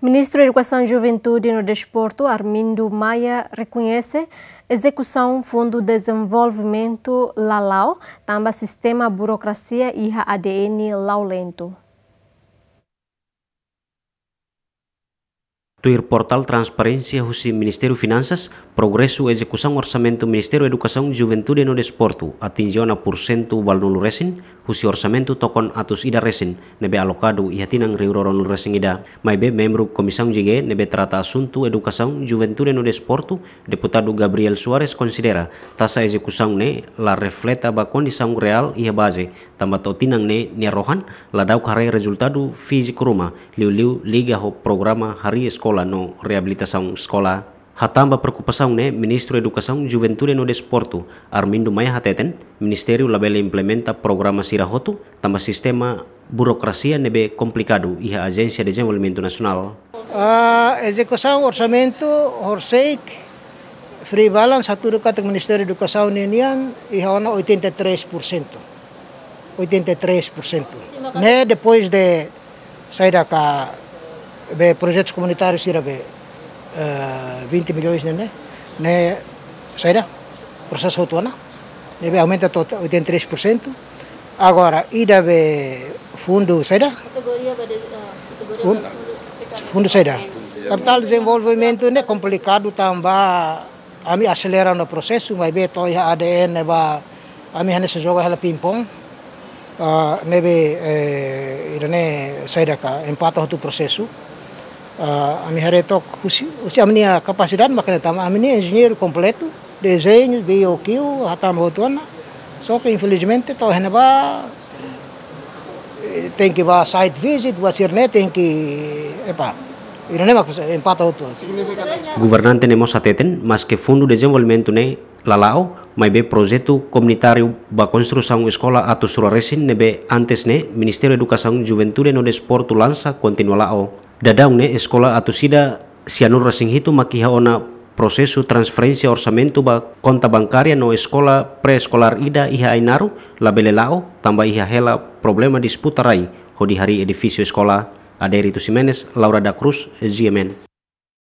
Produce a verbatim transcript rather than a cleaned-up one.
Ministru Edukasaun, Juventude no Desportu, Armindo Maia, rekoñese ezekusaun Fundu Dezenvolvimentu la la'o, tanba sistema burokrasia iha A D N la'o lentu. Tuir portál transparénsia husi Ministériu Finansas, progresu ezekusaun orsamentu Ministériu Edukasaun, Juventude no Desportu atinje ona pursentu valunulu resin, husi orsamentu tokon atus ida resin, ne'ebé alokadu iha tinan rihun rua ruanulu resin ida. Maibé membru Komisaun G, ne'ebé trata asuntu edukasaun, juventude no desportu, Deputadu Gabriel Soares konsidera, taxa ezekusaun ne'e la refleta ba kondisaun reál iha baze, tanba to'o tinan ne'e nia rohan, ladauk haree rezultadu fíziku ruma, liuliu liga ho programa harii eskola no reabilitasaun eskola. Hatán ba preokupasaun ne'e, Ministru Edukasaun, Juventude no Desportu, Armindo Maia hateten, Ministériu labele implementa programa sira hotu, tanba sistema burokrasia ne'ebé komplikadu iha Ajénsia Dezenvolvimentu Nasionál. Ah, ezekusaun orsamentu, horiseik, free balance, hatudu katak Ministériu Edukasaun ninian, iha ona oitenta e três por cento. Oitenta e três por cento. Ne'e depois de saida ka be projetus komunitáriu sira be, eh, vinte milhões ne'e, ne'e, ne'e saida prosesu hotu ona, ne'ebé aumenta to'o oitenta e três por cento. Agora, ida be fundu saida? Kategoria be de, eh, kategoria Fun-, be fundu fundu saida? Kapitál dezenvolvimentu ne'e komplikadu tanba ami aselera ona prosesu, maibé to'o iha A D N ba ami hanesan joga hela ping-pong. Ah, ne'ebé, eh, ida-ne'e saida ka empata hotu prosesu. Ah, ami haree took husi, husi ami-nia kapasidade mak ne'e tanba ami-nia enjeñeiru kompletu, dezeñu, B O Q, hatama hotu ona. Só que infelizmente to'o iha ne'ebá, eh, tenke ba site visit, ba sira-ne'e tenke, epá, ida-ne'e mak empata hotu. Governante ne'e mós hateten, maske Fundu Dezenvolvimentu ne'e la la'o, maibé projetu komunitáriu ba konstrusaun eskola atus rua resin ne'ebé antes ne'e Ministériu Edukasaun, Juventude no Desportu lansa kontinua la'o. Daudaun ne'e eskola atus ida sianulu resin hitu mak iha ona prosesu transferénsia orsamentu ba konta bankária no eskola pré-eskolár ida iha Ainaro labele la'o, tanba iha hela problema disputa rai hodi harii edifísiu eskola. Adérito Ximenes, Laura da Cruz, G M N.